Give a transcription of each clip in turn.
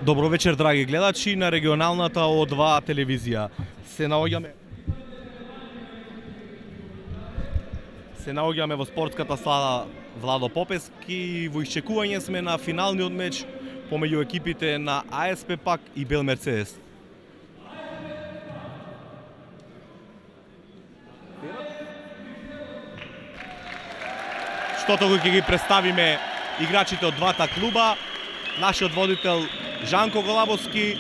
Добро вечер, драги гледачи на регионалната О2 телевизија. Се наоѓаме во спортската сала Владо Попески и во исчекување сме на финалниот меч помеѓу екипите на АСП Пак и Бел Мерцедес. Штото кој ќе ги представиме играчите од двата клуба, нашиот водител Жанко Голабовски,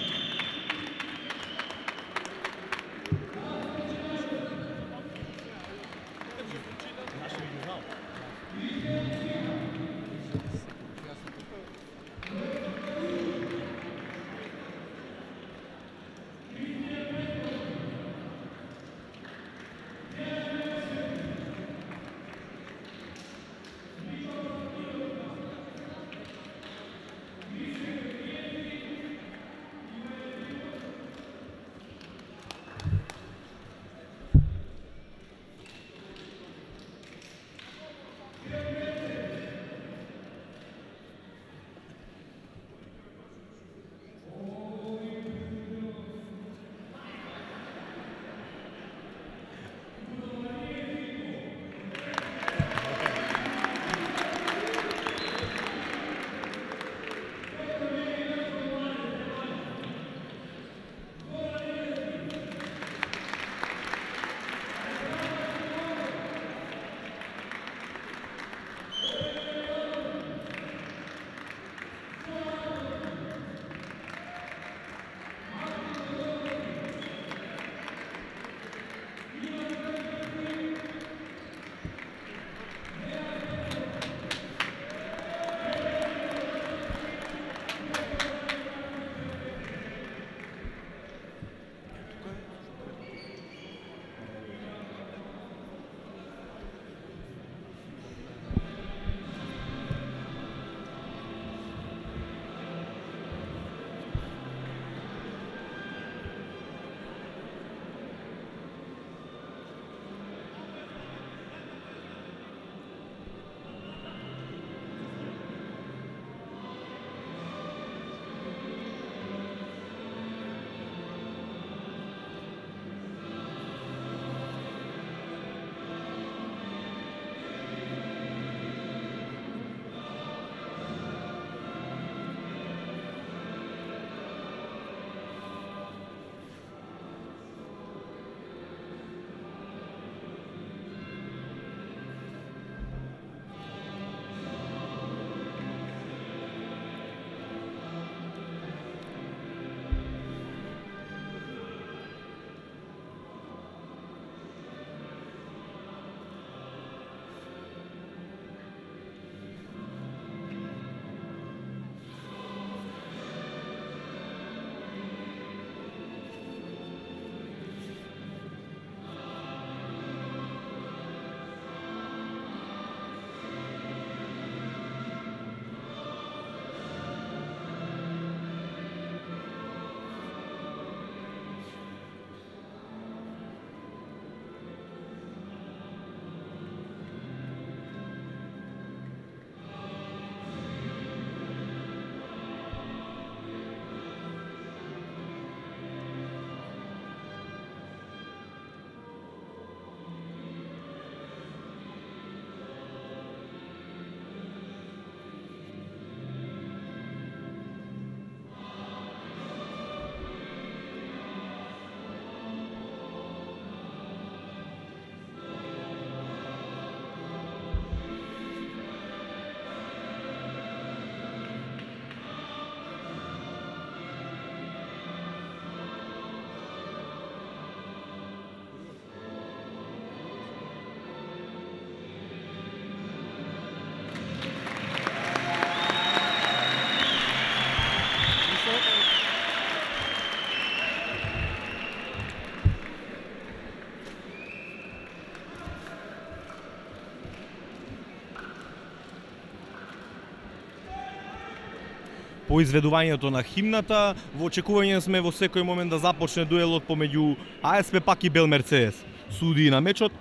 по изведувањето на химната, во очекување сме во секој момент да започне дуелот помеѓу АСП Пак и Бел Мерцедес. Судии на мечот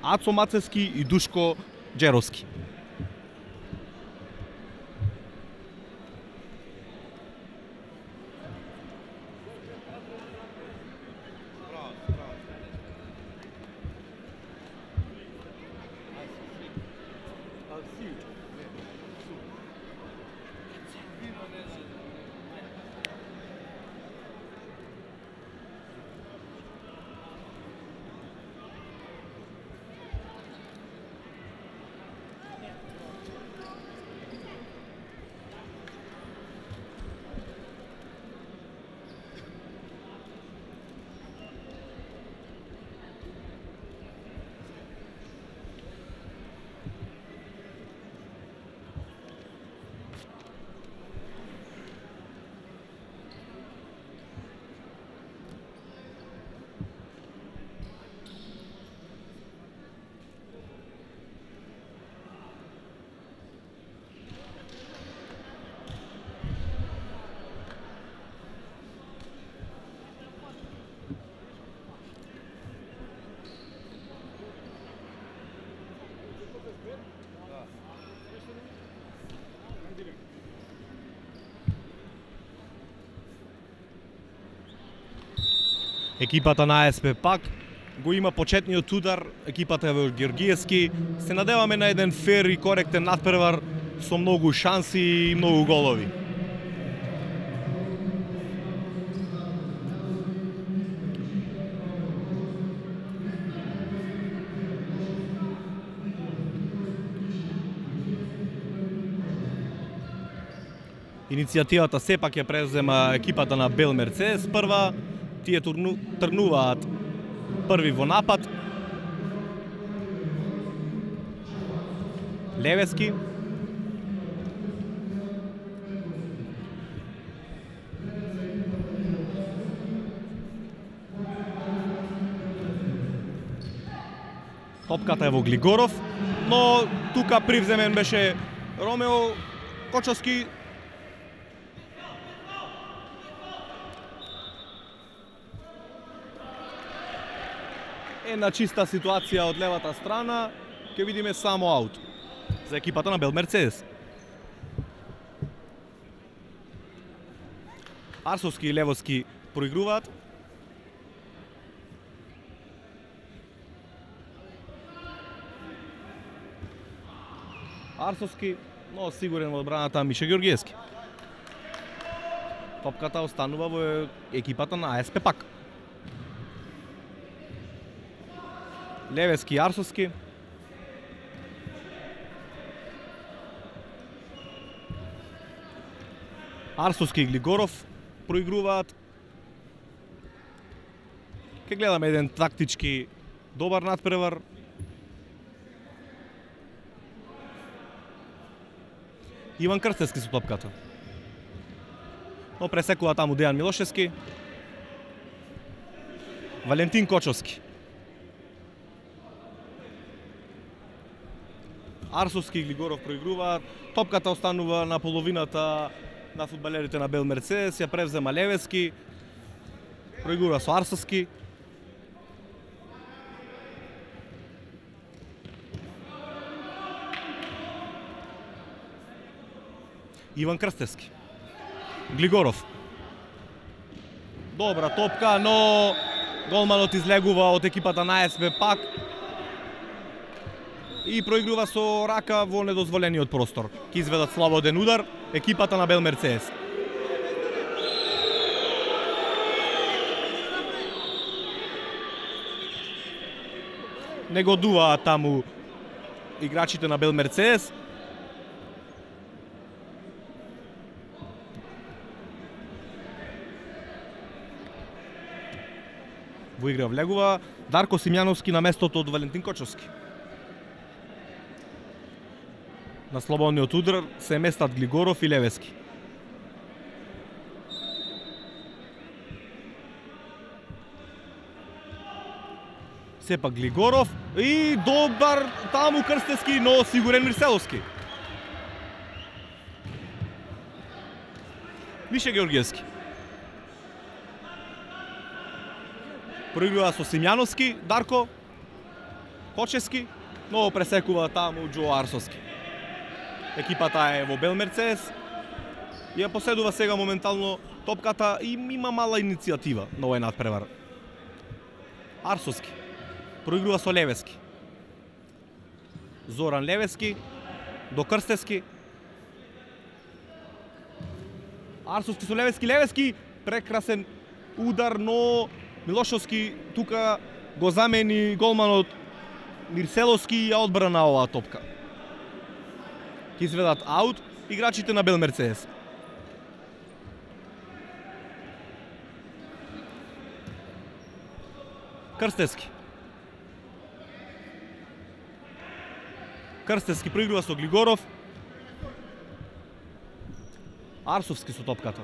Ацо Мацевски и Душко Джеровски. Екипата на АСП пак го има почетниот удар, екипата во Георгиевски. Се надеваме на еден фер и коректен надпревар со многу шанси и многу голови. Иницијативата сепак ја презема екипата на Бел Мерцедес прва. Тие тргнуваат први во напад. Левески. Топката е во Глигоров, но тука привземен беше Ромео Кочовски. Една чиста ситуација од левата страна, ќе видиме само аут за екипата на Бел Мерцедес. Арсовски и Левоски проигруваат. Арсовски, но сигурен во одбраната Миша Георгиевски. Топката останува во екипата на АСП пак. Левески и Арсовски. Арсовски и Глигоров проигруваат. Ке гледаме еден тактички добар надпревар. Иван Крстевски со топката. Но пресекува таму Дејан Милошевски. Валентин Кочовски. Арсовски и Глигоров проигруваат. Топката останува на половината на фудбалерите на Бел Мерцедес. Ја превзема Левески. Проигрува со Арсовски. Иван Крстевски. Глигоров. Добра топка, но голманот излегува од екипата на АСП пак и проигрува со рака во недозволениот простор. Ке изведат слободен удар екипата на Бел Мерцедес. Не годуваат таму играчите на Бел Мерцедес. Во игра влегува Дарко Симјановски на местото од Валентин Кочовски. На слободниот удар се местат Глигоров и Левески. Сепак Глигоров и добар таму Крстевски, но сигурен Мирселовски. Миша Георгиевски. Проигрува со Симјановски, Дарко Кочевски, но пресекува таму Џо Арсовски. Екипата е во Бел Мерцедес. Ја поседува сега моментално топката и има мала иницијатива на овој надпревар. Арсовски проигрува со Левески. Зоран Левески до Крстевски. Арсовски со Левески, Левески прекрасен удар, но Милошовски тука го замени голманот Мирселовски и ја одбрана оваа топка. Ке изведат аут играчите на Бел Мерцедес. Крстевски. Крстевски проигрува со Глигоров. Арсовски со топката.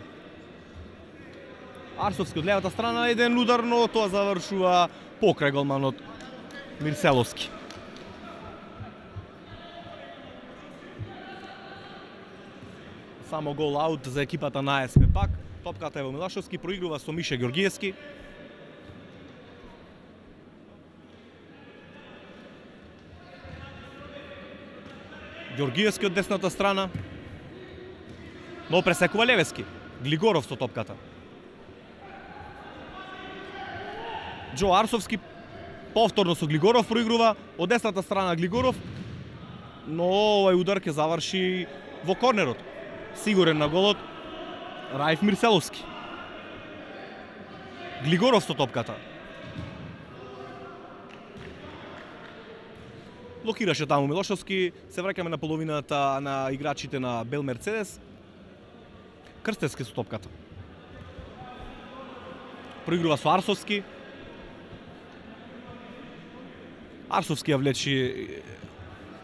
Арсовски од левата страна, еден удар, но тоа завршува покрај голманот Мирселовски. Само гол аут за екипата на АСП пак. Топката е во Милашовски, проигрува со Миша Георгиевски. Георгиевски од десната страна, но пресекува Левески. Глигоров со топката. Џо Арсовски повторно со Глигоров проигрува, од десната страна Глигоров, но овај удар ќе заврши во корнерот. Сигурен на голот Раиф Мирселовски. Глигоров со топката. Блокираше таму Милошовски, се враќаме на половината на играчите на Бел Мерцедес. Крстевски со топката. Проигрува со Арсовски. Арсовски ја влечи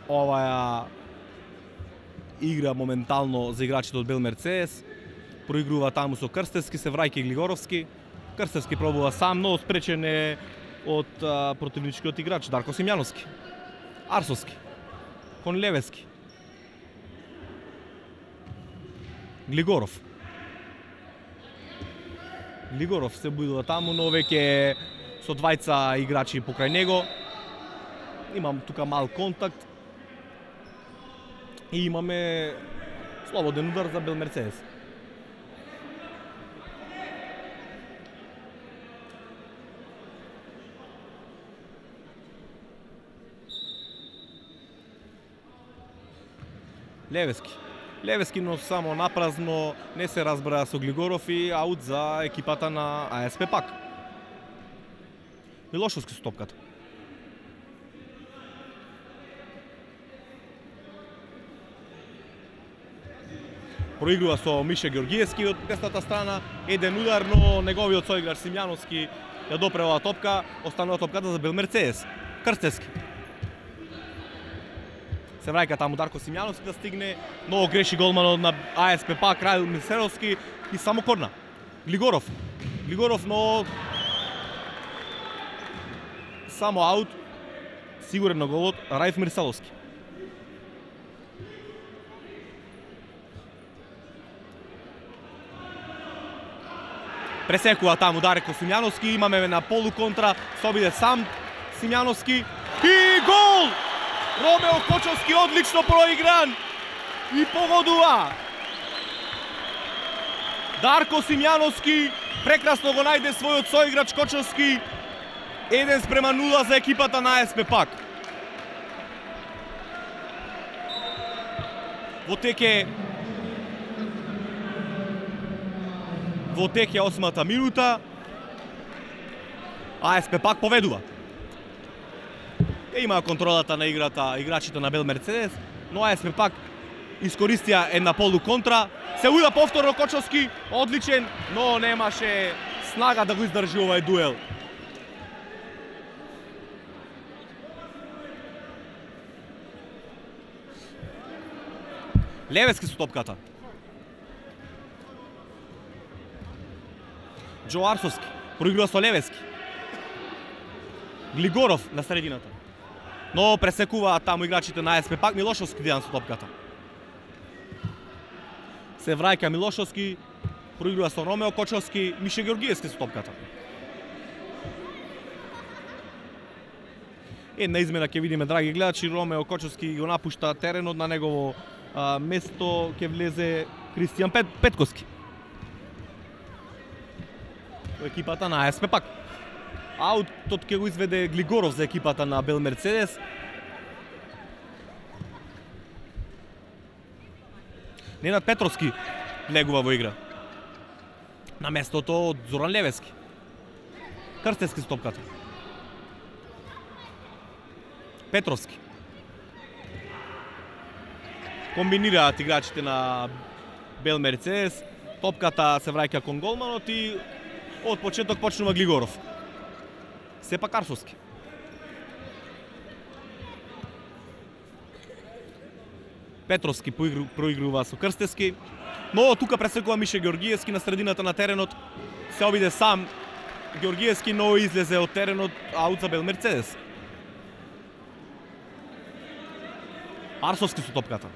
оваа игра моментално за играчите од Бел Мерцедес. Проигрува таму со Крстевски, се враќа и Глигоровски. Крстевски пробува сам, но спречен е од противничкиот играч Дарко Симјановски. Арсовски кон Левески. Глигоров се будува таму, но веќе со двајца играчи покрај него. Имам тука мал контакт и имаме слободен удар за Бел Мерцедес. Левески, но само напразно, не се разбра со Глигоров и аут за екипата на АСП пак. Милошовски со топката. Проигрува со Мише Георгиевски од десната страна, еден удар, но неговиот соиграч Симјановски ја допре оваа топка, останува топката за Бел Мерцедес. Крстевски се враќа таму Дарко Симјановски да стигне, но греши голманот на АСП пак Раил Мирселовски и само корна. Глигоров, но само аут, сигурен на голот Раиф Мирселовски. Пресекува таму Дарко Симјановски, имаме на полу контра, се обиде сам Симјановски и гол! Ромео Кочовски одлично проигран и погодува. Дарко Симјановски прекрасно го најде својот соиграч Кочовски. 1:0 за екипата на АСП пак. Во теке 8-та минута АСП пак поведува. Има контролата на играта играчите на Бел Мерцедес, но АСП пак искористија една полу контра. Се уда повторно Кочовски, одличен, но немаше снага да го издржи овај дуел. Левески со топката. Џо Арсовски проигрува со Левески. Глигоров на средината. Но пресекува таму играчите на АСП пак Милошовски дијан со топката. Се враќа Милошовски, проигрува со Ромео Кочовски, Мише Георгиевски со топката. Една измена ќе видиме, драги гледачи, Ромео Кочовски го напушта теренот, на негово место ќе влезе Кристијан Петковски. Екипата на АСП пак. Аутот ќе го изведе Глигоров за екипата на Бел Мерцедес. Ненад Петровски влегува во игра. На местото од Зоран Левески. Крстевски со топката. Петровски. Комбинираат играчите на Бел Мерцедес. Топката се враќа кон голманот и од почеток почнува Глигоров. Сепак Арсовски. Петровски проигрува со Крстевски, но тука пресекува Мише Георгиевски на средината на теренот. Се обиде сам Георгиевски, но излезе од теренот, аут за Бел Мерцедес. Арсовски со топката.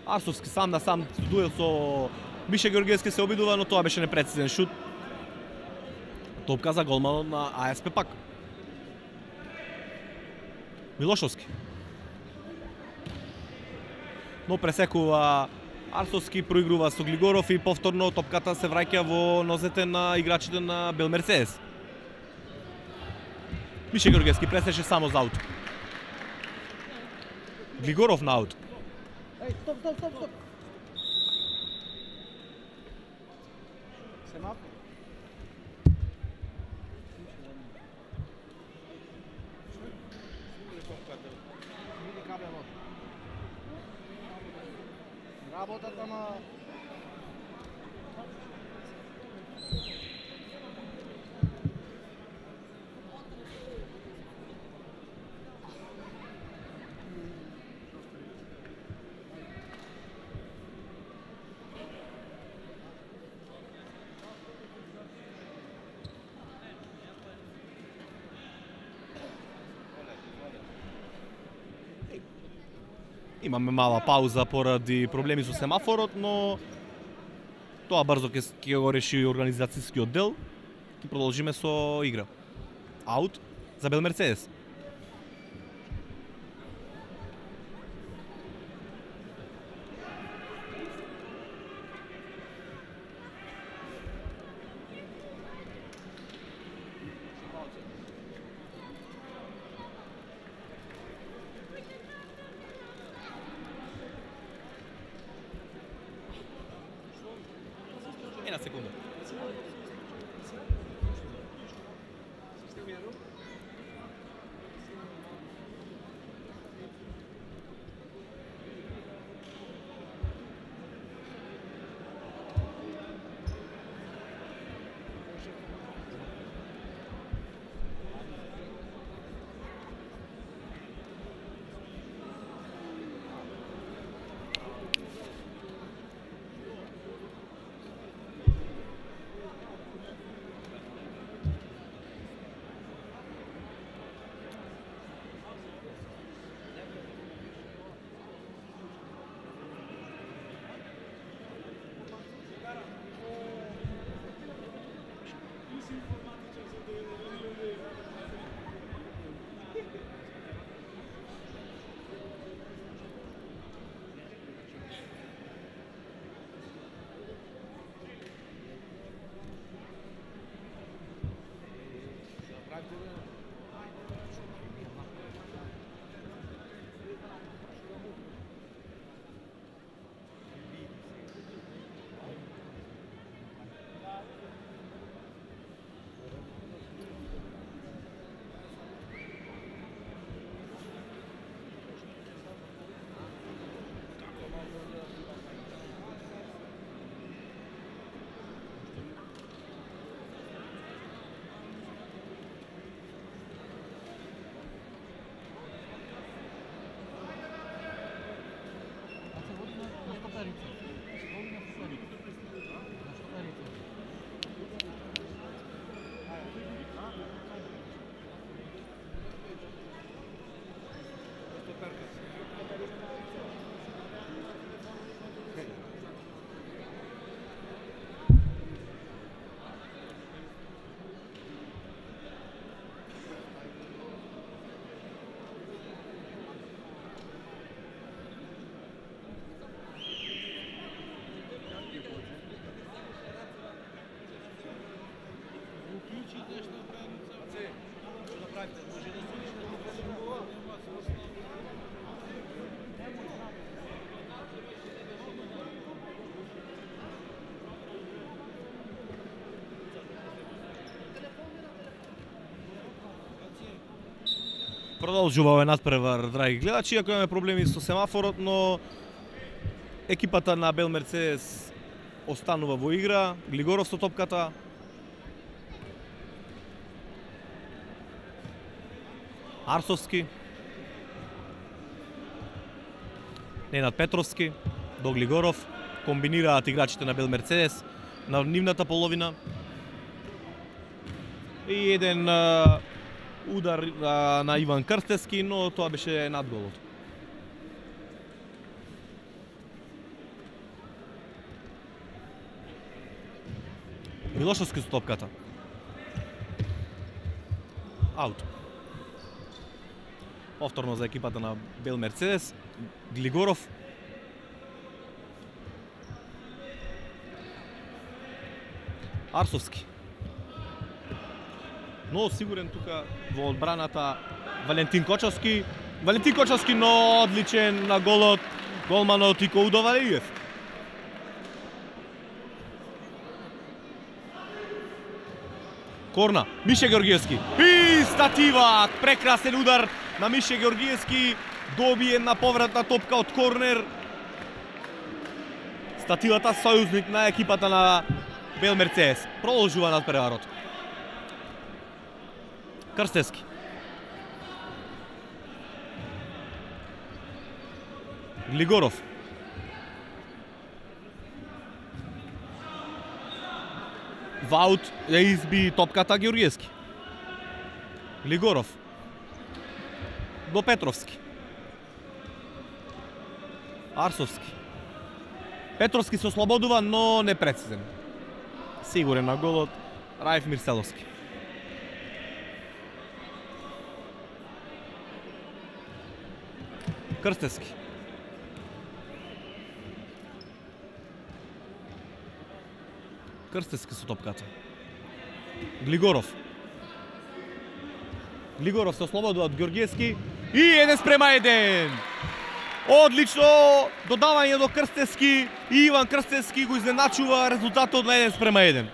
Арсовски сам на сам дуел со Мише Георгиевски се обидува, но тоа беше непрецизен шут. Топка за голманот на АСП пак. Милошовски. Но пресекува Арсовски проигрува со Глигоров и повторно топката се враќа во нозете на играчите на Бел Мерцедес. Мише Георгиевски пресеше само за аут. Глигоров на аут. Стоп. Семафор. Работата на Имаме мала пауза поради проблеми со семафорот, но тоа брзо ќе го реши организацијскиот дел. Ќе продолжиме со игра. Аут за Бел Мерцедес. Една секунда. Продолжува овој надпревар, драги гледачи, иако имаме проблеми со семафорот, но екипата на Бел Мерцедес останува во игра. Глигоров со топката. Арсовски. Ненад Петровски до Глигоров. Комбинираат играчите на Бел Мерцедес на нивната половина. И еден удар на Иван Крстевски, но тоа беше над голот. Милошовски со топката. Аут. Повторно за екипата на Бел Мерцедес. Глигоров. Арсовски. Но сигурен тука во одбраната Валентин Кочовски. Валентин Кочовски, но одличен на голот голманот Ико Удовалиев. Корна, Мише Георгиевски. И статива, прекрасен удар на Мише Георгиевски. Доби една повратна топка од корнер. Стативата сојузник на екипата на Бел Мерцеес. Продолжува надпреварот. Крстевски. Глигоров. Ваут ја изби топката Георгиевски. Глигоров. До Петровски. Арсовски. Петровски се ослободува, но непрецизен. Сигурен на голот Раев Мирселовски. Крстевски. Крстевски со топката. Глигоров. Глигоров се ослободува од Георгиевски и 1:1. Одлично додавање до Крстевски и Иван Крстевски го изненачува резултатот на 1:1.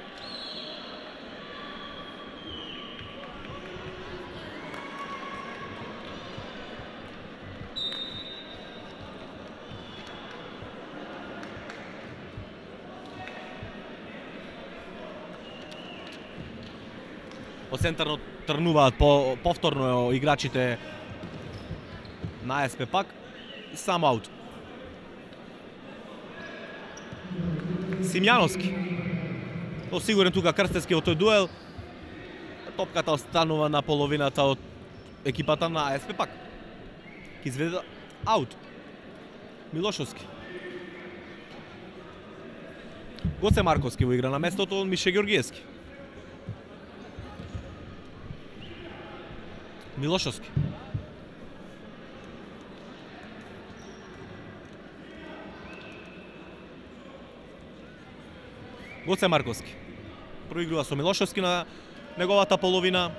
По центарно трнуваат повторно играчите на АСП пак. Сам аут. Симјановски. Сигурен тука Крстевски во тој дуел. Топката останува на половината од екипата на АСП пак. Ки изведе аут. Милошовски. Гоце Марковски во игра на местото од Мише Георгиевски. Милошовски. Гоце Марковски. Проигрува со Милошовски на неговата половина.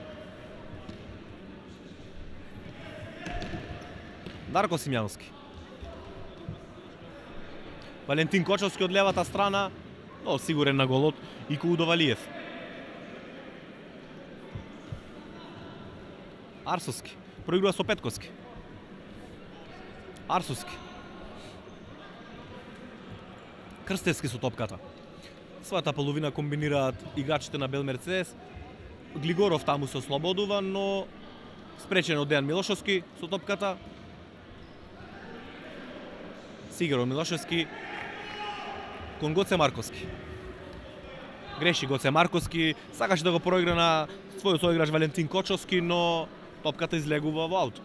Дарко Симјановски. Валентин Кочовски од левата страна, но сигурен на голот Ико Удовалиев. Арсовски. Проигрува со Петковски. Арсовски. Крстевски со топката. Својата половина комбинираат играчите на Бел Мерцеес. Глигоров таму се ослободува, но спречен од Дејан Милошовски со топката. Сигуро Милошовски кон Гоце Марковски. Греши Гоце Марковски, сакаше да го проигра на својот соиграч Валентин Кочовски, но топката излегува во аут.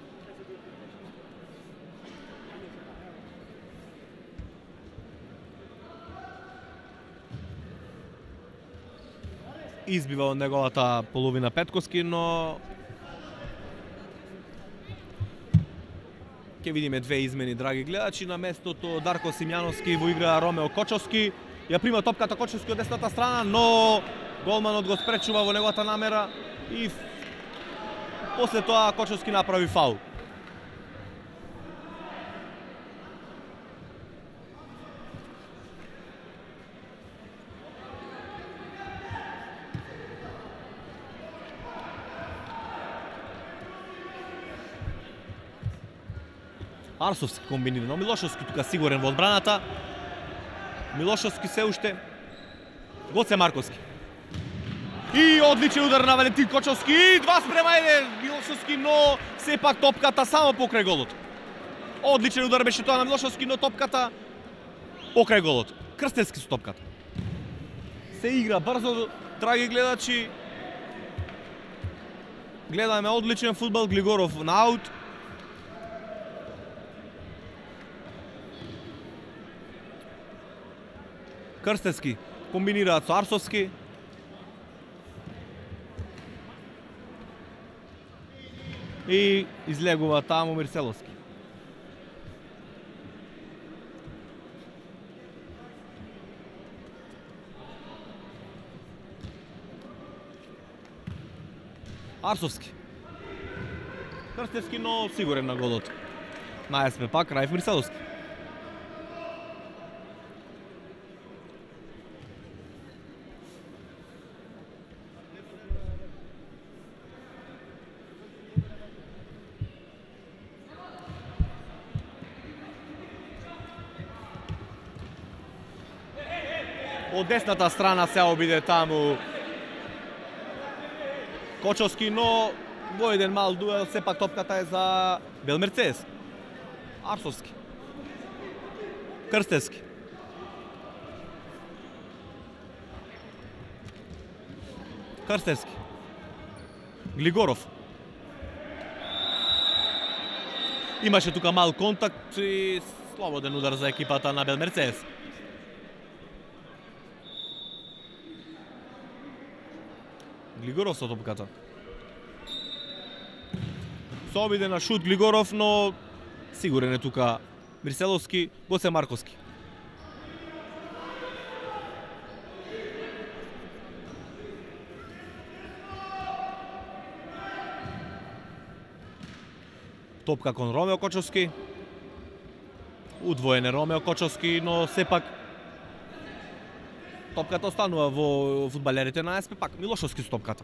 Избива од неговата половина Петковски, но ќе видиме две измени, драги гледачи. На местото Дарко Симјановски во игра Ромео Кочовски. Ја прима топката Кочовски од десната страна, но голманот го спречува во неговата намера и после тоа Кочовски направи фаул. Арсовски комбинира, но Милошовски тука сигурен во одбраната. Милошовски се уште. Гоце Марковски. И одличен удар на Валентин Кочовски. И 2:1 Милошовски, но сепак топката само покрај голот. Одличен удар беше тоа на Милошовски, но топката покрај голот. Крстевски со топката. Се игра брзо, драги гледачи. Гледаме одличен фудбал. Глигоров на аут. Крстевски комбинираат со Арсовски. И излегува таму Мирселовски. Арсовски. Крстевски, но сигурен на голот. На АСП пак Раиф Мирселовски. Од десната страна се обиде таму Кочовски, но во еден мал дуел сепак топката е за Белмерцес. Арсовски. Крстевски. Крстевски. Глигоров. Имаше тука мал контакт и слободен удар за екипата на Белмерцес. Глигоров со топката. Се обиде на шут Глигоров, но сигурен е тука Мирселовски, Гоце Марковски. Топка кон Ромео Кочовски. Удвоен е Ромео Кочовски, но сепак топката останува во фудбалерите на АСП пак. Милошовски со топката.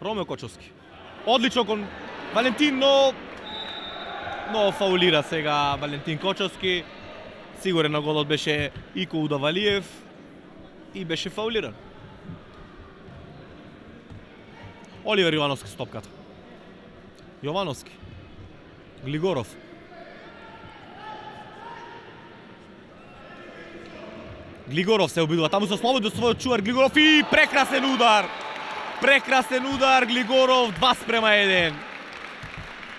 Ромео Кочовски. Одлично кон Валентин, но фаулира сега Валентин Кочовски. Сигурен на голот беше Ико Удавалиев и беше фаулиран. Оливер Јовановски со топката. Јовановски. Глигоров. Глигоров се обидува таму со слободно својот чувар Глигоров и прекрасен удар. Прекрасен удар Глигоров 2:1.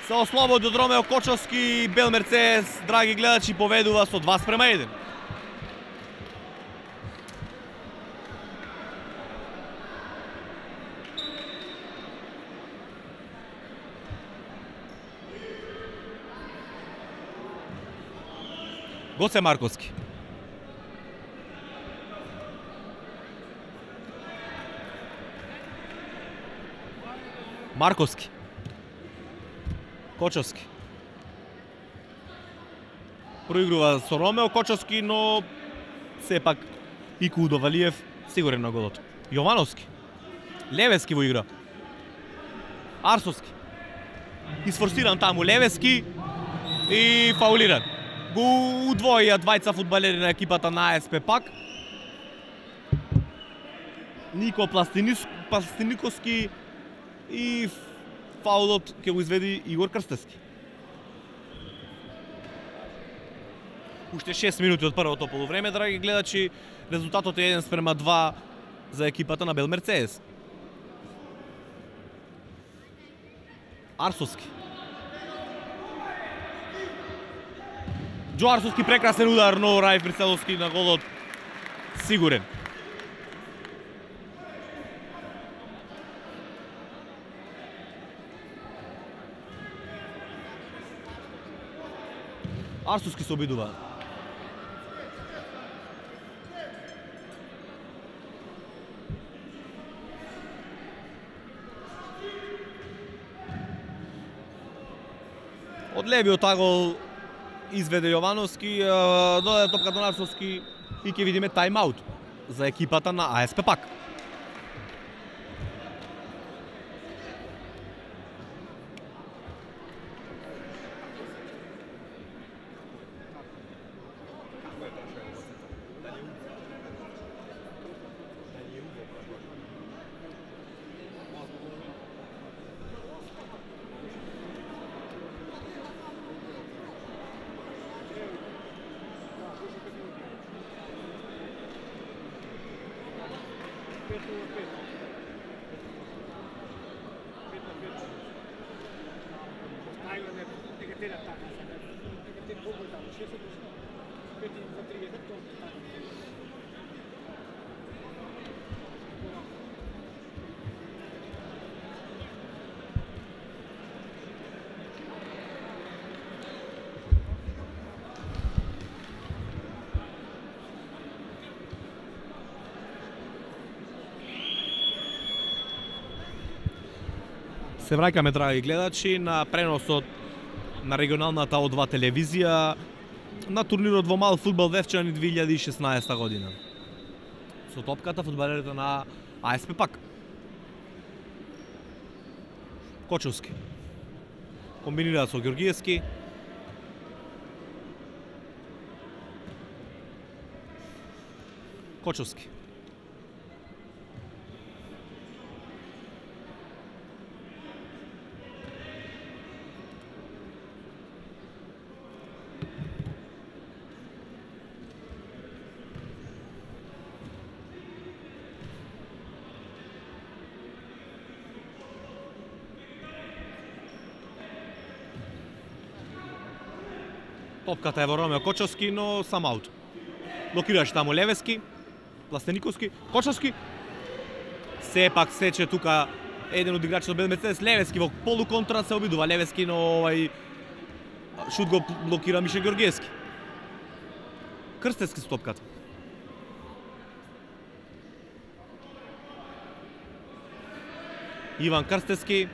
Се ослободи од Ромео Кочовски, Белмерцес, драги гледачи, поведува со 2:1. Гоце Марковски. Марковски. Кочовски. Проигрува со Ромео Кочовски, но сепак Ико Удовалиев сигурен на голот. Јовановски. Левески во игра. Арсовски. Изфорсиран таму Левески и фаулиран. Го удвоија двајца фудбалери на екипата на АСП пак. Нико Пластиниковски и фаулот ќе го изведи Игор Крстевски. Уште 6 минути од првото полувреме, драги гледачи, резултатот е 1:2 за екипата на Белмерцес. Арсовски. Џо Арсовски, прекрасен удар, но Раиф Мирселовски на голот сигурен. Арсовски се обидува. Од левиот агол изведе Јовановски, додаде топката на Арсовски и ќе видиме тајм-аут за екипата на АСП пак. Се враќаме, драги гледачи, на преносот на регионалната О2 телевизија на турнирот во мал фудбал Вевчани 2016 година. Со топката фудбалерите на АСП Пак. Кочовски. Комбинираат со Ѓоргиевски. Кочовски. Топката е во Ромео Кочовски, но сам аут. Блокираше таму Левески, Пластениковски, Кочовски. Сепак сече тука еден од играчите од Бел Мерцедес, Левески во полуконтра се обидува Левески, но овај шут го блокира Мише Ѓоргиевски. Крстевски со топката. Иван Крстевски,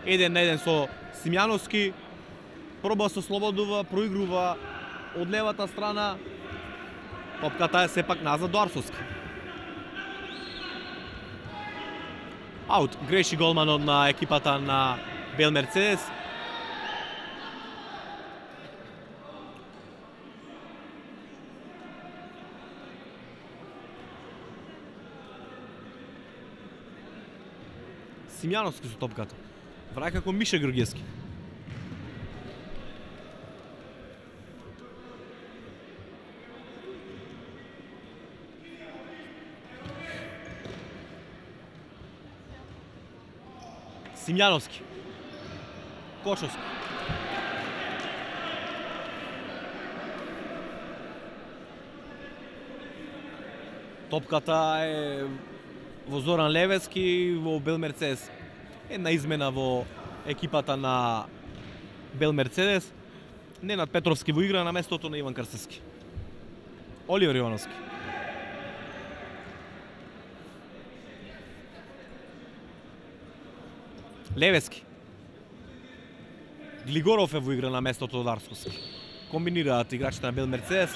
1-1 со Симјановски. Проба со слободува, проигрува од левата страна. Топката е сепак назад до Арсовски. Аут, греши голманот на екипата на Бел Мерцедес. Симјановски со топката. Враќа кон Мише Ѓоргиевски. Симјановски. Кочовски. Топката е во Зоран Левески во Бел Мерцедес. Една измена во екипата на Бел Мерцедес. Ненад Петровски во игра на местото на Иван Крстевски. Оливер Јовановски. Левески. Глигоров е во игра на местото од Арсовски. Комбинираат играчите на Бел Мерцедес.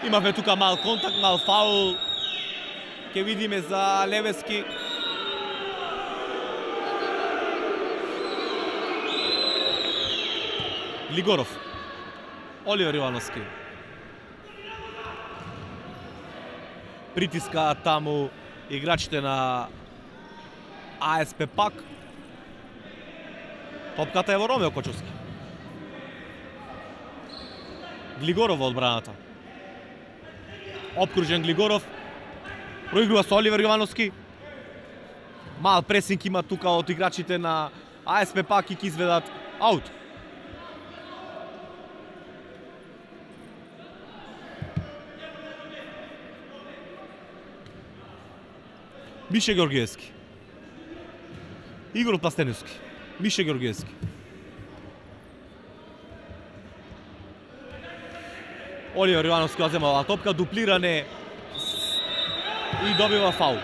Имавме тука мал контакт, мал фаул. Ке видиме за Левески. Глигоров. Оливер Јовановски. Притискаат таму играчите на АСП Пак. Топката е во Ромео Кочовски. Глигоров во одбраната. Обкружен Глигоров. Проигрува со Оливер Јовановски. Мал пресинг има тука од играчите на АСП Пак и ќе изведат аут. Мише Ѓоргиевски. Игор Пластениковски. Мише Ѓоргиевски. Оливер Јовановски ја земава топка, дуплиране и добива фаул.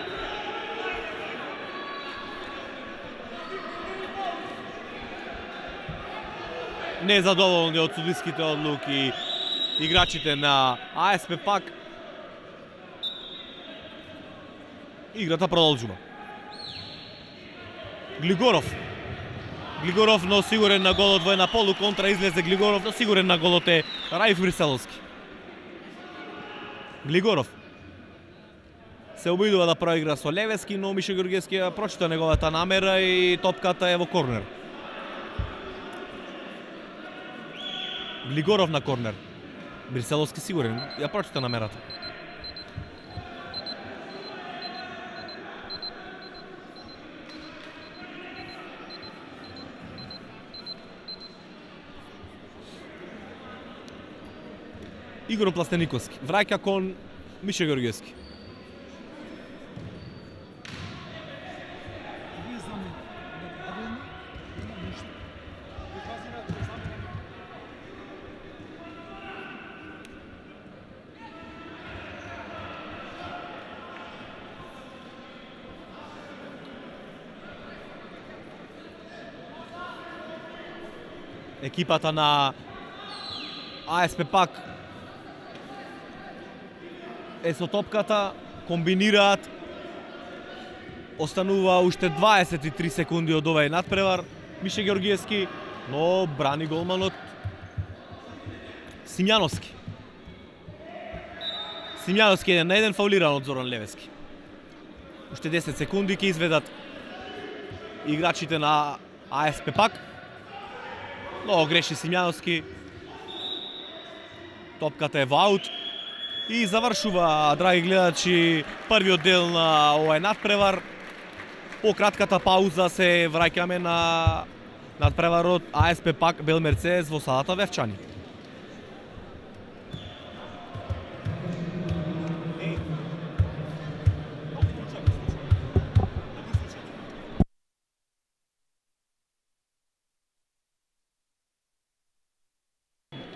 Незадоволни од судиските одлуки играчите на АСП Пак. Играта продолжува. Глигоров. Глигоров, но сигурен на голот во една полуконтра, излезе Глигоров, но сигурен на голот е Раиф Бриселовски. Глигоров се обидува да проигра со Левески, но Мише Ѓоргиевски ја прочита неговата намера и топката е во корнер. Глигоров на корнер. Бриселовски сигурен, ја прочита намерата. Игор Пластениковски враќа кон Мише Ѓоргиевски. екипата на АСП пак е со топката, комбинираат. Останува уште 23 секунди од овај надпревар. Мише Георгиевски, но брани голманот Симјановски. Симјановски е на еден фаулиран од Зоран Левески. Уште 10 секунди ќе изведат играчите на АСП пак. Но греши Симјановски. Топката е во аут. И завршува, драги гледачи, првиот дел на овај надпревар. По кратката пауза се враќаме на надпреварот АСП пак Бел Мерцедес во салата Вевчани.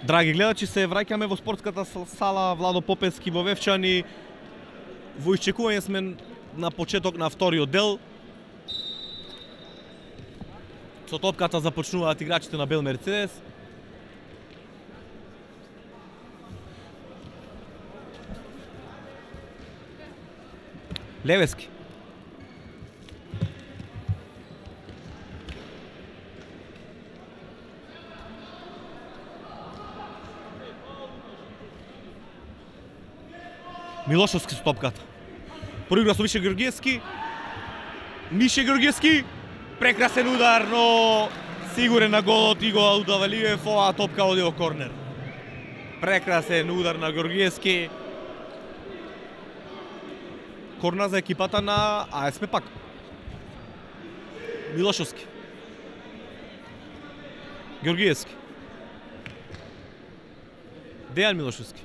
Драги гледачи, се враќаме во спортската сала Владо Попевски во Вевчани. Во исчекување сме на почеток на вториот дел. Со топката започнуваат играчите на Бел Мерцедес. Левески. Милошовски со топката. Проигра со Мише Георгиевски. Мише Георгиевски. Прекрасен удар, но сигурен на голот и го удаваливе оваа топка оди во корнер. Прекрасен удар на Георгиевски. Корнер за екипата на АСП пак. Милошовски. Георгиевски. Дејан Милошовски.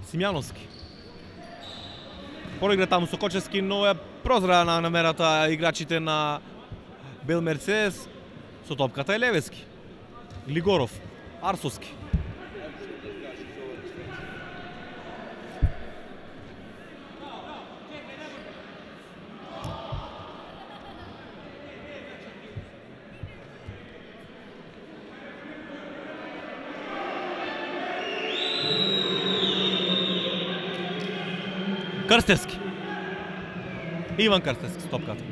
Симјановски. Проигра таму со Кочевски, но ја прозра на намерата играчите на Бел Мерцедес. Со топката е Левески. Глигоров. Арсовски. Крстевски. Иван Крстевски с топката.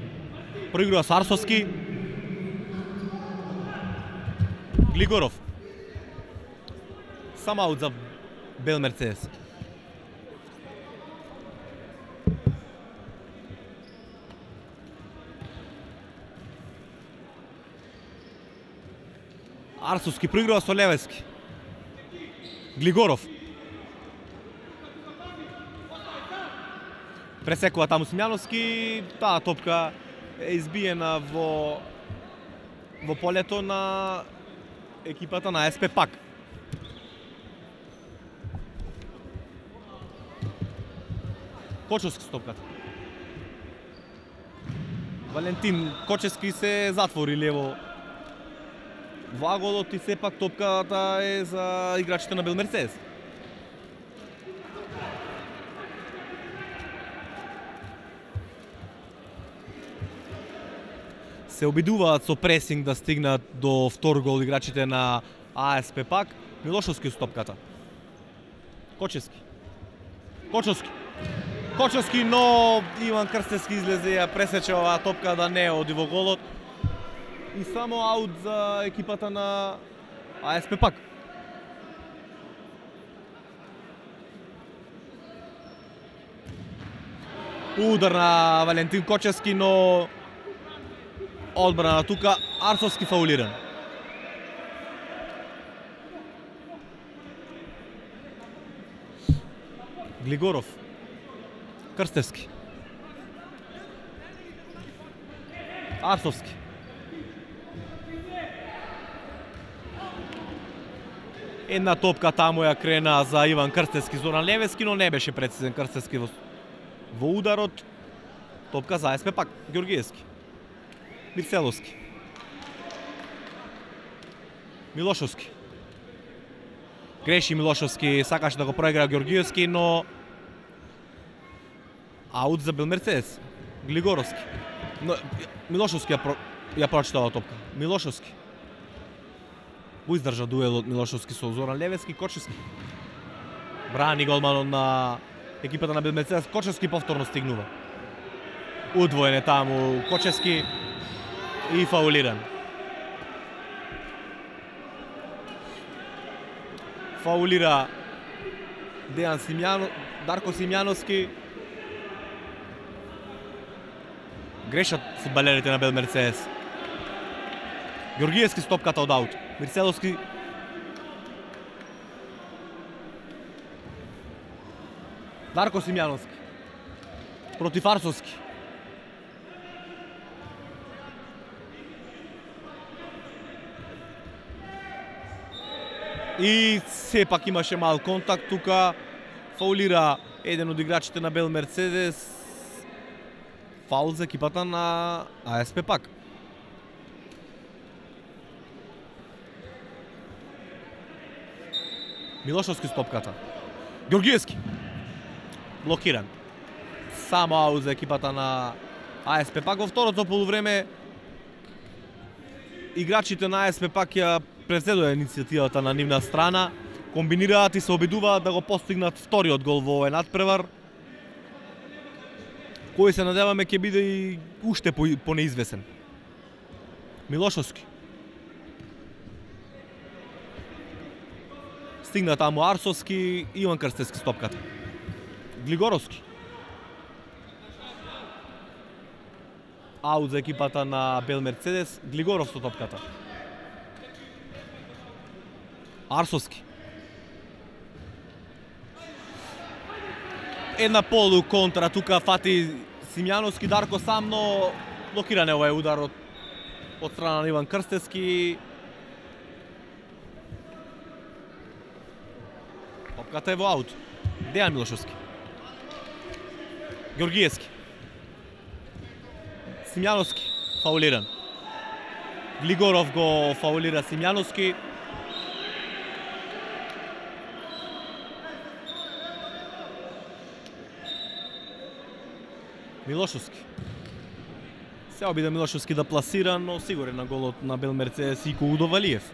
Проигрува с Арсовски. Глигоров. Сам аут за Бел Мерцедес. Арсовски проигрува со Левески. Глигоров. Пресекува таму Симјановски, таа топка е избиена во полето на екипата на АСП пак. Кочевски с топката. Валентин Кочевски се затвори лево во аголот и сепак топката е за играчите на Бел Мерцедес. Се обидуваат со пресинг да стигнат до втор гол играчите на АСП пак. Милошовски со топката. Кочевски. Кочевски, но Иван Крстевски излезе ја пресече оваа топка да не оди во голот. И само аут за екипата на АСП пак. Удар на Валентин Кочевски, но одбрана тука, Арсовски фаулиран. Глигоров. Крстевски. Арсовски. Една топка таму ја крена за Иван Крстевски, Зоран Левески, но не беше прецизен Крстевски во ударот. Топка за АСП пак, Георгиевски. Мирцеловски. Милошовски. Греши Милошовски, сакаше да го проигра Георгиевски, но аут за Бел Мерцедес. Глигоровски. Но, Милошовски ја прочитала топка. Милошовски. Го издржа дуелот Милошовски со Зоран Левески. Кочевски. Брани голманот на екипата на Белмерцедес. Кочевски повторно стигнува. Удвоен е таму Кочевски и фаулиран. Фаулира Дарко Симјановски. Грешат фудбалерите на Белмерцедес. Георгиевски стопката од аут. Мирцеловски. Дарко Симјановски. Против Арсовски. И сепак имаше мал контакт тука. Фаулира еден од играчите на Белмерцедес. Фаул за екипата на АСП пак. Милошовски стопката. Георгиевски. Блокиран. Само аут за екипата на АСП пак. Во второто полувреме играчите на АСП пак ја превзедоа иницијативата на нивна страна. Комбинираат и се обидуваат да го постигнат вториот гол во овој надпревар, кој се надеваме ќе биде и уште понеизвесен. Милошовски. Стигна таму Арсовски, Иван Крстевски стопката. Глигоровски. Аут за екипата на Белмерцедес, Глигоров со топката. Арсовски. Една полу контра, тука фати Симјановски, Дарко сам, но блокиран е овој удар од страна на Иван Крстевски. Топката е во аут. Дејан Милошовски. Георгиевски. Симјановски, фаулиран. Глигоров го фаулира Симјановски. Милошовски. Се обида Милошовски да пласира, но сигурен на голот на Белмерцедес и Удо Валиев.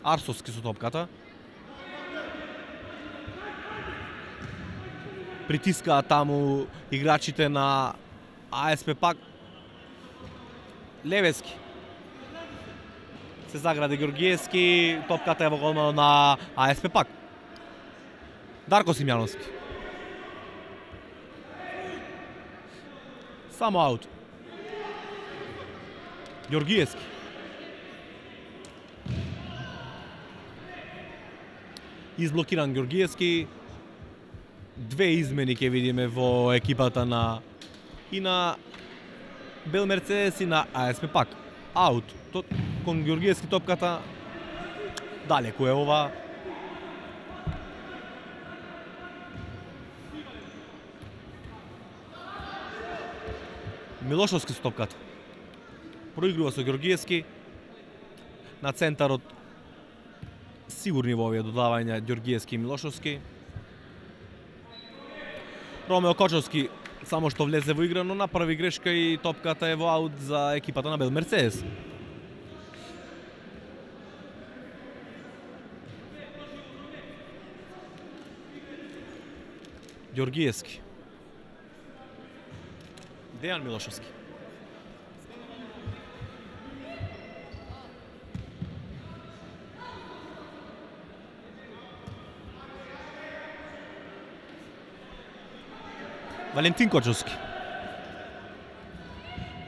Арсовски со топката. Притискаат таму играчите на АСП пак. Левески. Се загради Георгиевски, топката е во голманот на АСП пак. Дарко Симјановски. Само аут. Георгиевски. Изблокиран Георгиевски. Две измени ќе видиме во екипата на Белмерцедес и на АСП пак. Аут. Кон Георгиевски топката далеку е ова. Милошовски со топката. Проигрува со Георгиевски. На центарот сигурни во овие додавања Георгиевски и Милошовски. Ромео Кочовски само што влезе во игра, но направи грешка и топката е во аут за екипата на Белмерцедес. Георгиевски. Дејан Милошовски. Валентин Кочовски.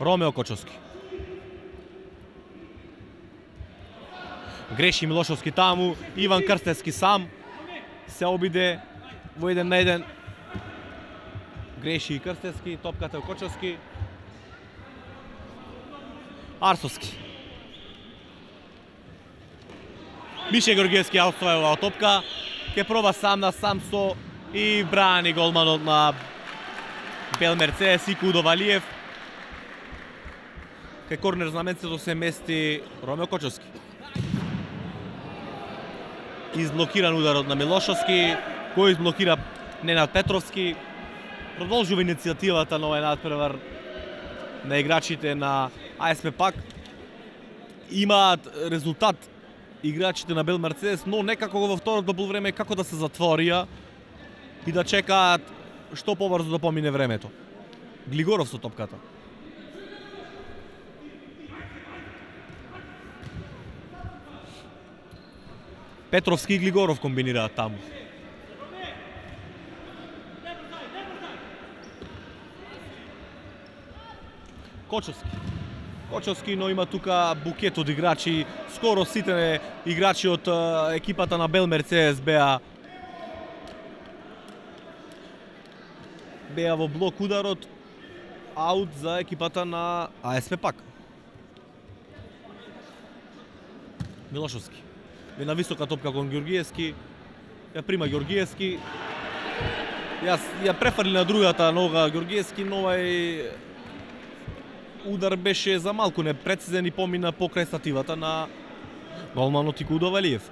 Ромео Кочовски. Греши Милошовски таму, Иван Крстевски сам се обиде во 1-1. Греши и Крстевски, топката е Кочовски. Арсовски. Мише Георгиевски ја оставува оваа топка. Ке проба сам на сам со и брани голманот на Белмерцедес и Удо Валиев. Кај корнер знаменцето се мести Ромео Кочовски. Изблокиран ударот на Милошовски, кој изблокира Ненад Петровски. Продолжува иницијативата на овој надпревар на играчите на АСП Пак. Имаат резултат играчите на Бел Мерцедес, но некако во второто полувреме како да се затворија и да чекаат што побрзо да помине времето. Глигоров со топката. Петровски и Глигоров комбинираат таму. Кочовски, но има тука букет од играчи. Скоро сите играчи од екипата на Бел Мерцедес беа во блок ударот. Аут за екипата на АСП Пак. Милошовски. Една висока топка кон Ѓоргиевски. Ја прима Ѓоргиевски. Ја префрли на другата нога Ѓоргиевски, но овај удар беше за малку непрецизен и помина покрај стативата на голманот Икудо Валиев.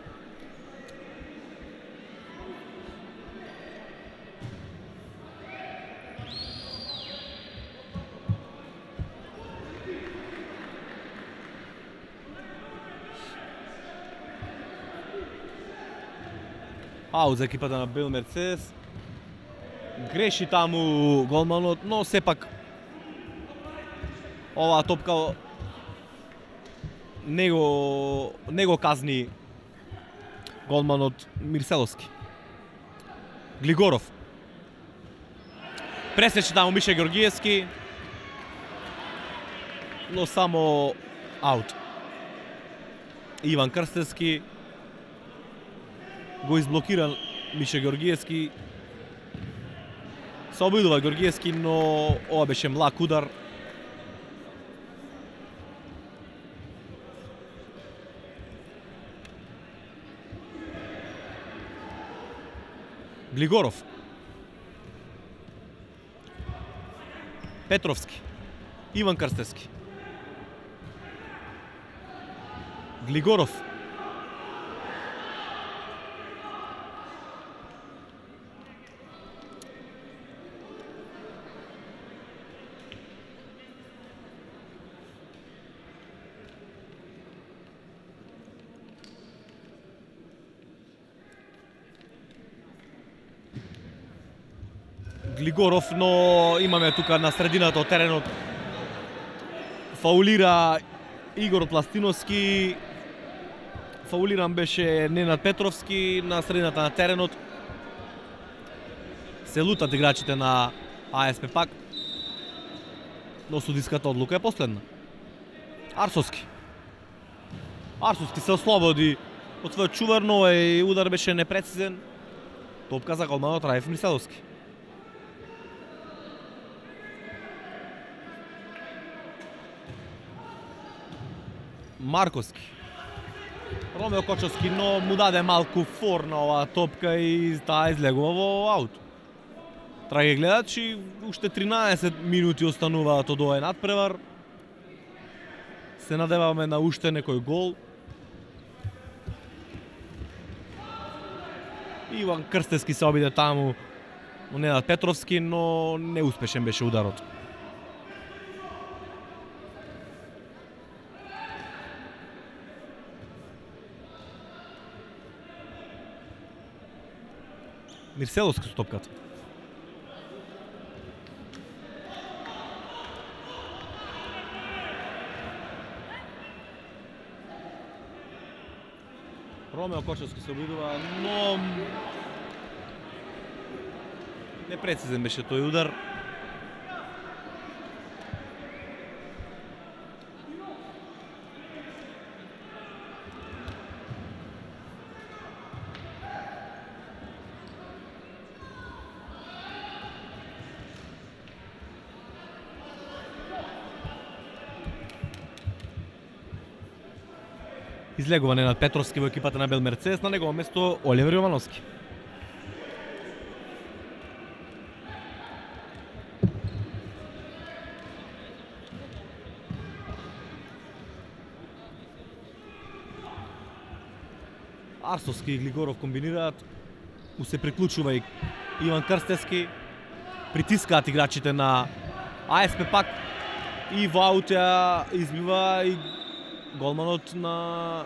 Аут за екипата на Бел Мерцедес. Греши таму голманот, но сепак оваа топка не го казни голманот Мирселовски. Глигоров. Пресече таму Миша Ѓоргиевски, но само аут. Иван Крстевски го изблокира Миша Ѓоргиевски. Се обидува Ѓоргиевски, но ова беше млак удар. Глигоров. Петровски. Иван Крстевски. Глигоров. Глигоров, но имаме тука на средината од теренот. Фаулира Игор Пластиновски. Фаулиран беше Ненад Петровски на средината на теренот. Се лутат играчите на АСП Пак. Но судиската одлука е последна. Арсовски се ослободи од својот чувар, но овој удар беше непрецизен. Топка за голманот Раев Мирселовски. Марковски. Ромео Кочовски, но му даде малку фор на оваа топка и таа излегува во аут. Драги гледачи, уште 13 минути остануваат од овој надпревар. Се надеваме на уште некој гол. Иван Крстевски се обиде таму во Ненад Петровски, но неуспешен беше ударот. Мирселовски со топката. Ромео Кочовски се обидува, но непрецизен беше тој удар. Излегува Ненад Петровски во екипата на Бел Мерцедес, на негово место Оливер Јовановски. Арсовски и Глигоров комбинираат, му се приклучува и Иван Крстевски. притискаат играчите на АСП пак и во аут ја избива и голманот на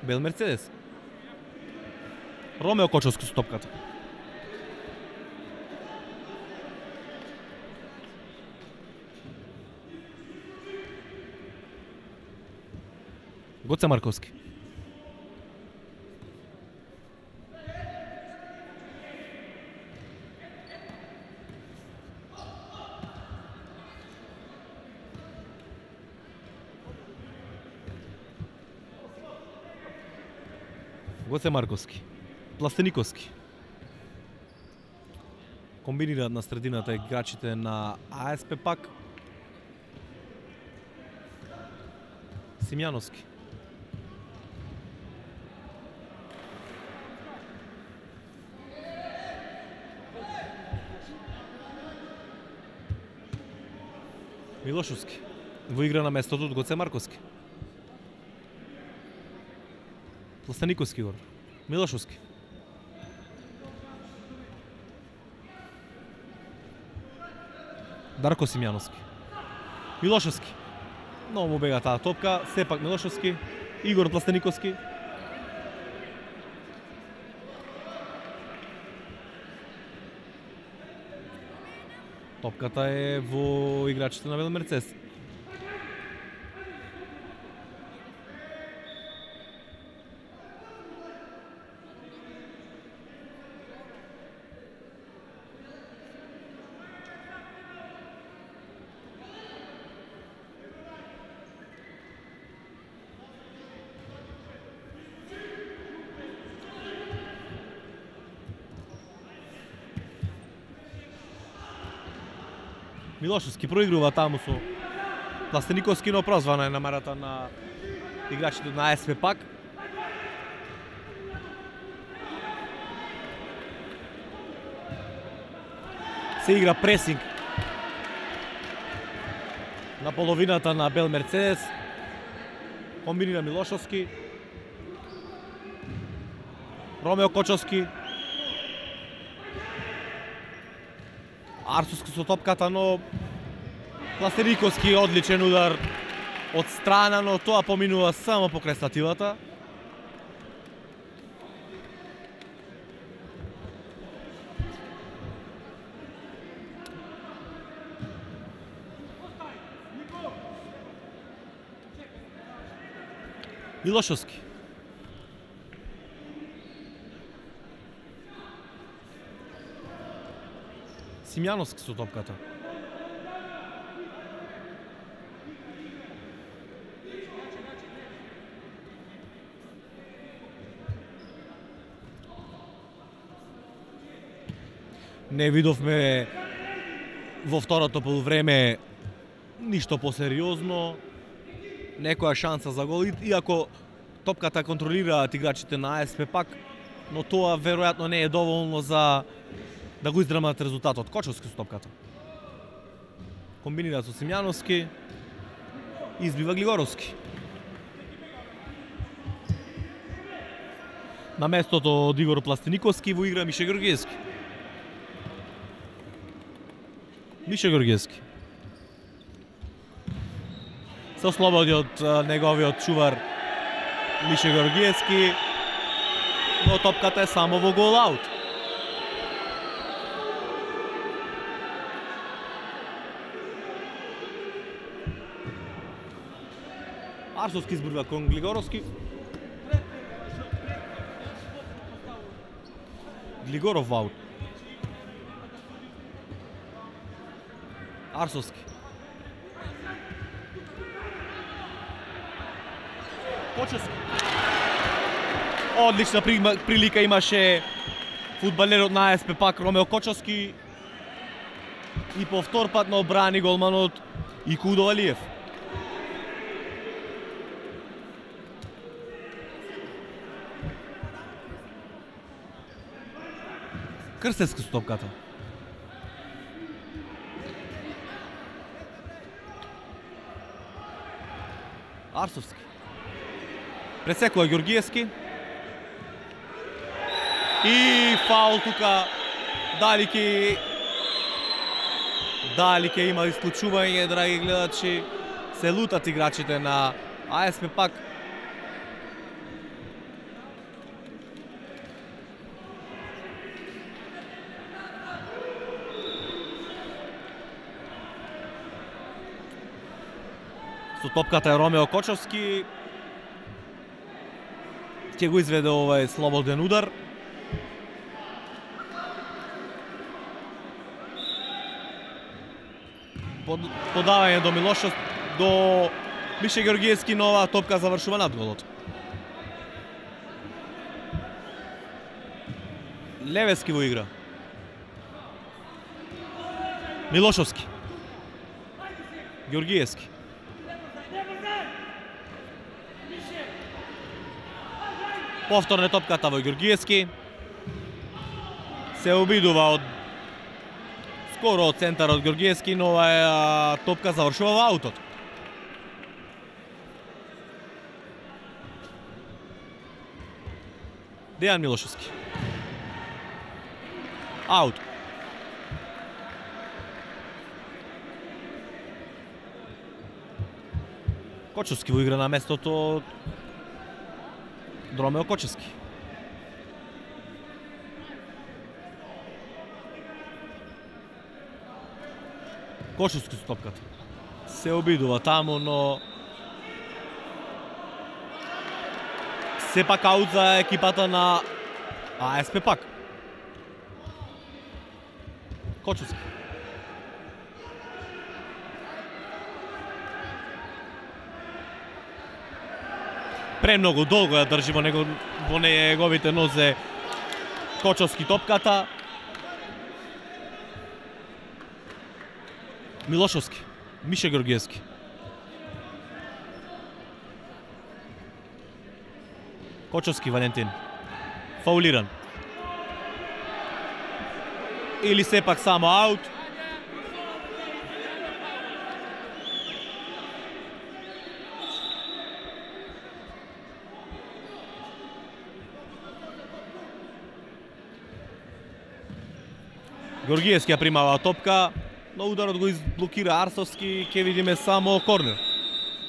Бел Мерцедес. Ромео Кочовски со топката. Гоце Марковски. Гоце Марковски. Пластениковски. Комбинираат на средината играчите на АСП пак. Симјановски. Милошовски. Во игра на местото од Гоце Марковски. Пластениковски гор. Милошовски. Дарко Симјановски. Милошовски. Много му бега таа топка, сепак Милошовски. Игор Пластениковски. Топката е во играчите на Бел Мерцедес. Милошовски проигрува таму со Пластениковски, но прозвана е намерата на играчите на АСП пак. Се игра пресинг на половината на Бел Мерцедес. Комбинира Милошовски. Ромео Кочовски. Арсовски со топката, но Пластениковски одличен удар од страна, но тоа поминува само покрај стативата. Милошовски. Симјановски со топката. Не видовме во второто полувреме ништо посериозно, некоја шанса за гол, иако топката контролираат играчите на АСП пак, но тоа веројатно не е доволно за да го издрамат резултатот. Кочовски со топката. Комбинира со Симјановски, избива Глигоровски. На местото од Игор Пластениковски во игра Мише Георгиевски. Мише Георгиевски се ослободи од неговиот чувар Мише Георгиевски, но топката е само во гол аут. Арсовски избрува кон Глигоровски. Глигоров аут. Арсовски. Кочовски. Одлична прилика имаше фудбалерот на АСП пак Ромео Кочовски и повтор пат на обрани голманот Икудо Алиев. Крстевски со топката. Арсовски. Пресекува Георгиевски. И фаул тука. Дали ќе Дали ќе има исклучување, драги гледачи, се лутат играчите на АСП Пак. Со топката е Ромео Кочовски. Ќе го изведе овај слободен удар. Подавање до до Мише Георгиевски, но оваа топка завршува над голот. Левески во игра. Милошовски. Георгиевски. Повторно топката во Георгиевски. Се обидува од скоро од центарот Георгиевски, но оваа топка завршува во аутот. Дејан Милошевски. Аут. Кочовски во игра на местото Ромео Кочевски. Кочевски со топката. Се обидува таму, но сепак аут за екипата на АСП Пак. Кочевски. Премногу долго ја држи во неговите нозе Кочовски топката. Милошовски, Мише Георгиевски. Кочовски Валентин. Фаулиран. Или сепак само аут. Георгиевски ја примава топка, но ударот го изблокира Арсовски, ќе видиме само корнер.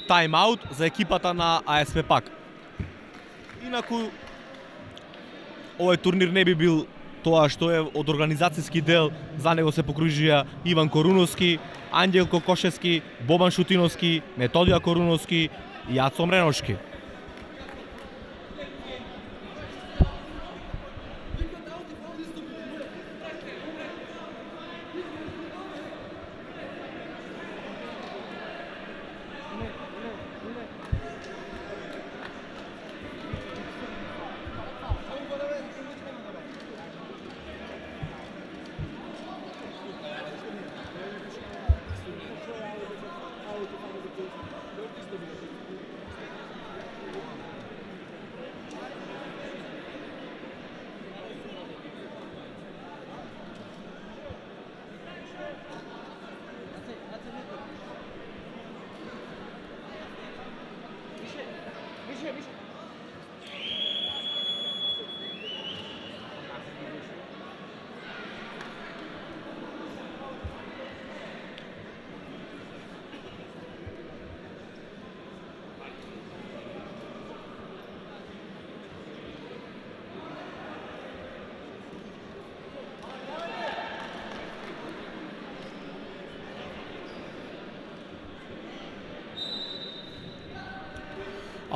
Тайм-аут за екипата на АСП Пак. Инаку, овој турнир не би бил тоа што е од организацијски дел. За него се покружија Иван Коруновски, Ангелко Кошевски, Бобан Шутиновски, Методија Коруновски и Јацо Мреношки.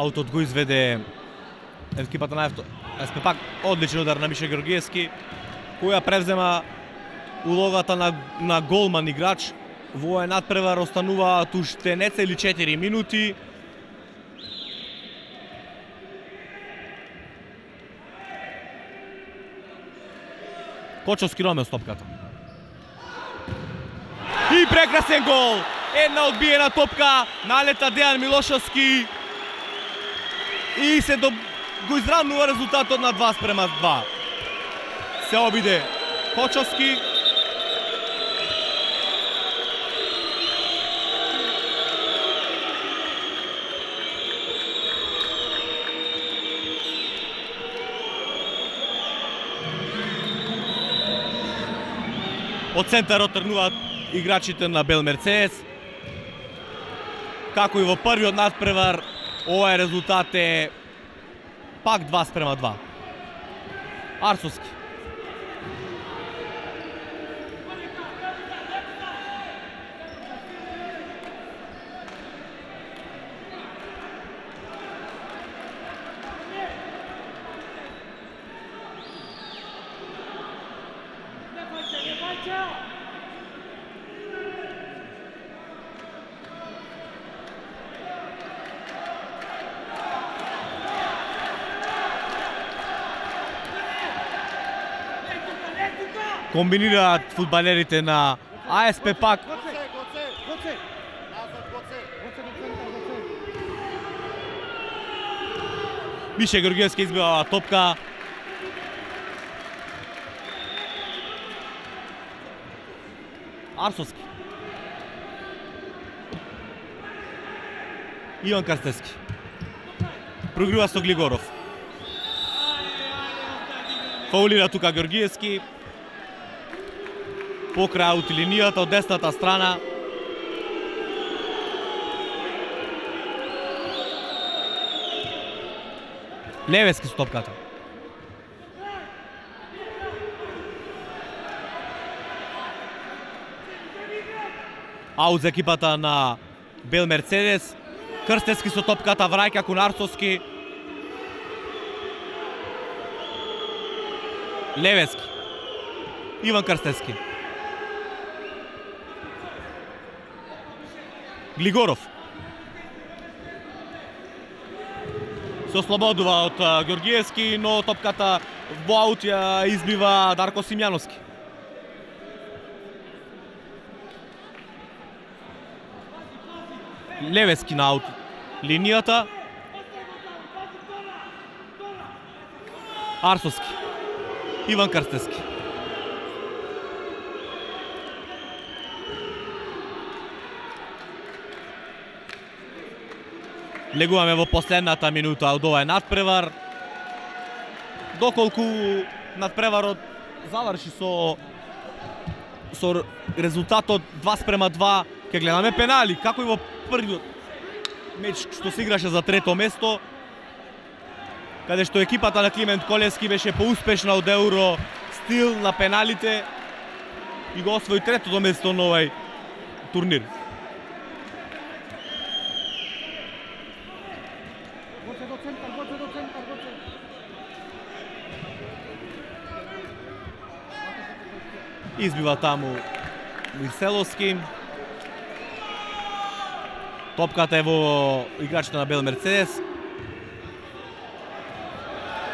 Аутот го изведе екипата на АСП Пак. Одличен удар на Мише Георгиевски, која превзема улогата на голман играч. Во овој надпревар остануваат уште нецели 4 минути. Кочовски Ромео топката. И прекрасен гол! Една одбиена топка, налета Дејан Милошевски и се го изравнува резултатот на 2:2. Се обиде Кочовски. Од центарот тргнуваат играчите на Бел Мерцедес. Како и во првиот надпревар, овој резултат е пак 2:2. Арсовски. Комбинираат фудбалерите на АСП пак. Гоце! Назад, Гоце! Гоце до центар, Гоце! Мише Георгиевски избива топка. Арсовски. Иван Карстевски. Прогрува со Глигоров. Фаулира тука Георгиевски. Покрај аут линијата од десната страна. Левески со топката. Аут за екипата на Бел Мерцедес. Крстевски со топката враќа кон Арсовски. Левески. Иван Крстевски. Глигоров. Се ослободува од Георгиевски, но топката во аут ја избива Дарко Симјановски. Левески на аут линијата. Арсовски. Иван Крстевски. Влегуваме во последната минута од овој надпревар. Доколку надпреварот заврши со резултатот 2:2, ќе гледаме пенали, како и во првиот меч што се играше за трето место, каде што екипата на Климент Колевски беше поуспешна од Евро стил на пеналите и го освои третото место на овој турнир. Избива таму Мирселовски. Топката е во играчите на Бел Мерцедес.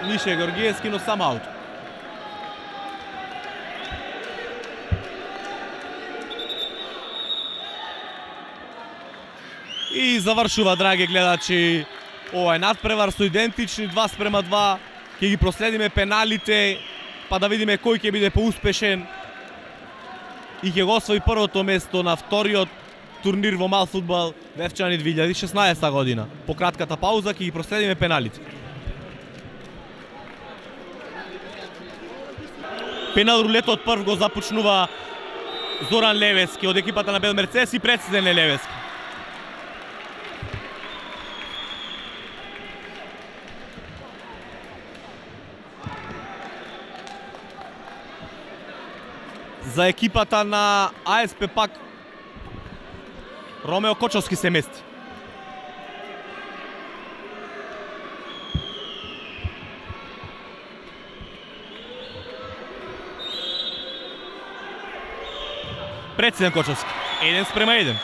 Мише Георгиевски, но сам аут. И завршува, драги гледачи, овој надпревар со идентични 2:2. Ќе ги проследиме пеналите, па да видиме кој ќе биде поуспешен и ќе го освои првото место на вториот турнир во мал фудбал Вевчани 2016 година. По кратката пауза ќе ги проследиме пеналите. Пенал рулетот прв го започнува Зоран Левески од екипата на Бел Мерцедес и прецизен е Левески. За екипата на АСП пак Ромео Кочовски се мести. Прецизен Кочовски. 1:1.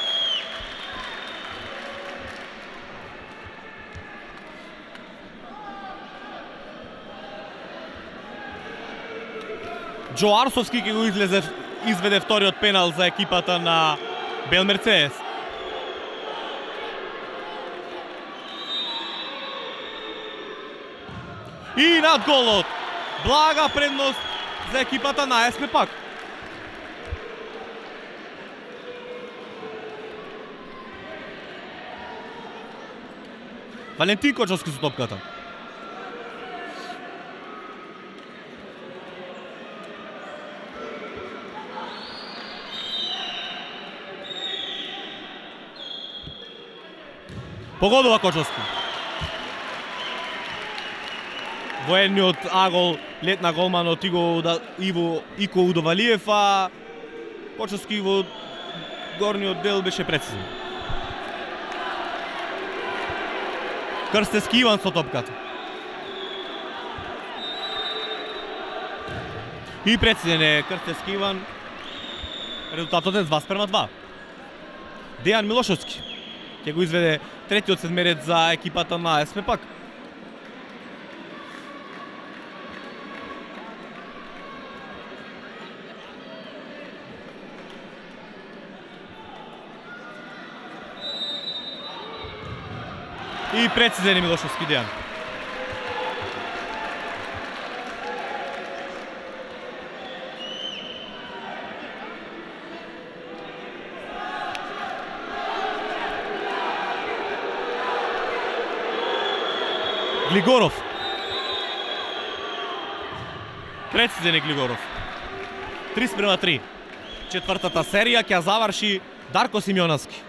Джо Арсовски ќе го изведе вториот пенал за екипата на Бел Мерцедес. И над голот. Блага предност за екипата на АСП пак. Валентин Кочовски со топката. Погодува Кочовски. Во едниот агол летна голманот Иво Ико Удовалиев, а Кочовски во горниот дел беше прецизен. Крстевски Иван со топката. И прецизен е Крстевски Иван. Резултатот е 2:2. Дејан Милошовски ќе го изведе третиот седмерец за екипата на АСП Пак. И прецизен е Милошовски Дејан. Глигоров. Прецизен е Глигоров. 3:3. Четвртата серија ќе заврши Дарко Симеоновски.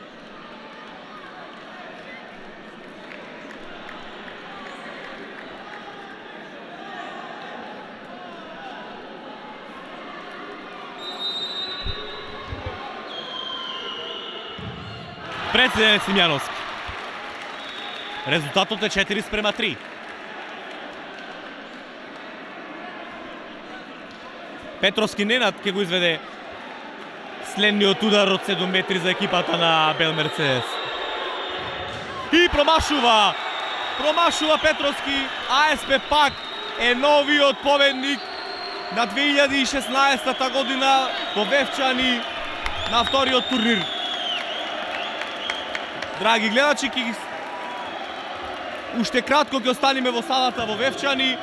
Прецизен е Симеоновски. Резултатот е 4:3. Петровски Ненад ќе го изведе следниот удар од 7 метри за екипата на Бел Мерцедес. И промашува! Промашува Петровски. АСП Пак е новиот победник на 2016 година во Вевчани на вториот турнир. Драги гледачи, уште кратко ќе останеме во салата во Вевчани.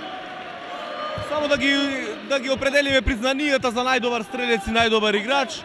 Само да ги определиме признанијата за најдобар стрелец и најдобар играч.